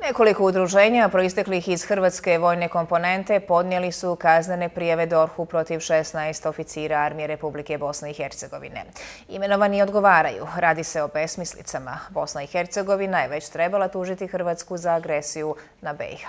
Nekoliko udruženja proisteklih iz hrvatske vojne komponente podnijeli su kaznene prijave DORH-u protiv 16 oficira Armije Republike Bosne i Hercegovine. Imenovani odgovaraju. Radi se o besmislicama. Bosna i Hercegovina je već trebala tužiti Hrvatsku za agresiju na BiH.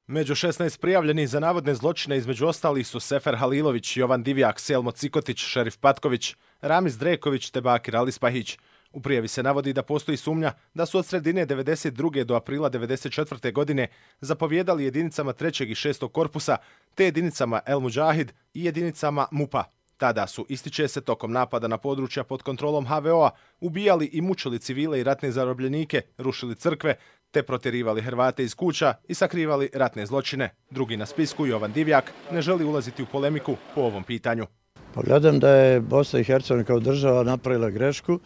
Među 16 prijavljenih za navodne zločine između ostalih su Sefer Halilović, Jovan Divjak, Selmo Cikotić, Šerif Patković, Ramiz Dreković te Bakir Alispahić. U prijavi se navodi da postoji sumnja da su od sredine 1992. do aprila 1994. godine zapovjedali jedinicama 3. i 6. korpusa te jedinicama El Mudžahid i jedinicama MUP-a. Tada su, ističe se, tokom napada na područja pod kontrolom HVO-a ubijali i mučili civile i ratne zarobljenike, rušili crkve te protjerivali Hrvate iz kuća i sakrivali ratne zločine. Drugi na spisku, Jovan Divjak, ne želi ulaziti u polemiku po ovom pitanju. Pa gledam da je Bosna i Hercegovina kao država napravila grešku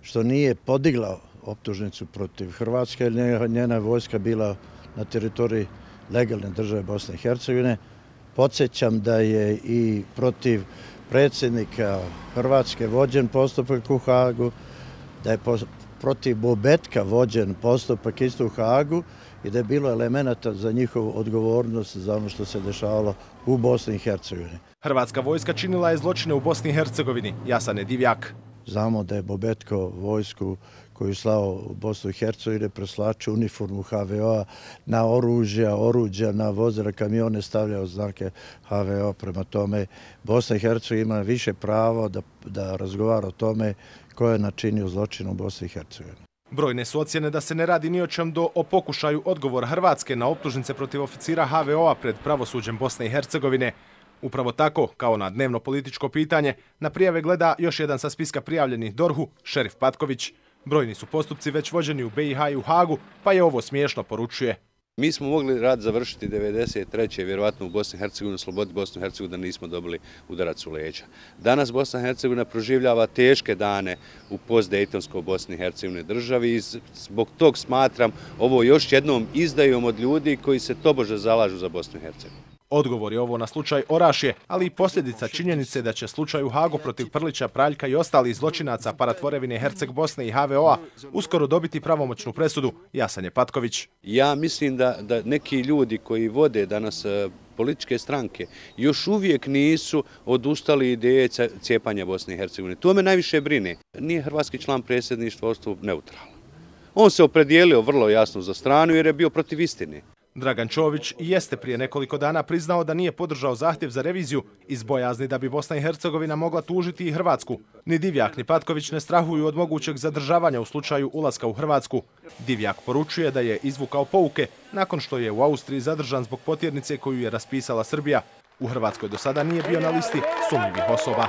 što nije podigla optužnicu protiv Hrvatske, jer njena vojska bila na teritoriji legalne države Bosne i Hercegovine. Podsjećam da je i protiv predsjednika Hrvatske vođen postupak u Hagu, da je protiv Bobetka vođen postupak isto u Hagu i da je bilo elemenata za njihovu odgovornost za ono što se dešavalo u Bosni i Hercegovini. Hrvatska vojska činila je zločine u Bosni i Hercegovini, jasan je Divjak. Znamo da je Bobetko vojsku koju slao u Bosnu i Hercegovini preslačio uniformu HVO-a na oruđa, na vozila, kamione stavljao znake HVO. Prema tome, Bosna i Hercegovina ima više pravo da razgovara o tome ko je načinio zločin u Bosni i Hercegovini. Brojne su ocjene da se ne radi ni o čem o pokušaju odgovora Hrvatske na optužnice protiv oficira HVO-a pred pravosuđem Bosne i Hercegovine. Upravo tako, kao na dnevno političko pitanje, na prijave gleda još jedan sa spiska prijavljenih DORH-u, Šerif Patković. Brojni su postupci već vođeni u BiH i u Hagu, pa je ovo smiješno, poručuje. Mi smo mogli rad završiti 1993. vjerovatno u Bosni i Hercegovini, sloboditi Bosnu i Hercegovinu da nismo dobili udarac u leđa. Danas Bosna i Hercegovina proživljava teške dane u postdejtonskoj Bosni i Hercegovini državi i zbog tog smatram ovo još jednom izdajom od ljudi koji se tobože zalažu za Bosnu i Hercegovinu. Odgovor je ovo na slučaj Orašje, ali i posljedica činjenice da će slučaj u Hagu protiv Prlića, Praljka i ostalih zločinaca paratvorevine Herceg Bosne i HVO-a uskoro dobiti pravomoćnu presudu, jasan je Patković. Ja mislim da neki ljudi koji vode danas političke stranke još uvijek nisu odustali ideje cijepanja Bosne i Hercegovine. To me najviše brine. Nije hrvatski član predsjedništva ostao neutralan. On se opredijelio vrlo jasno za stranu jer je bio protiv istine. Dragan Čović jeste prije nekoliko dana priznao da nije podržao zahtjev za reviziju iz bojazni da bi Bosna i Hercegovina mogla tužiti i Hrvatsku. Ni Divjak ni Patković ne strahuju od mogućeg zadržavanja u slučaju ulaska u Hrvatsku. Divjak poručuje da je izvukao pouke nakon što je u Austriji zadržan zbog potjernice koju je raspisala Srbija. U Hrvatskoj do sada nije bio na listi sumnjivih osoba.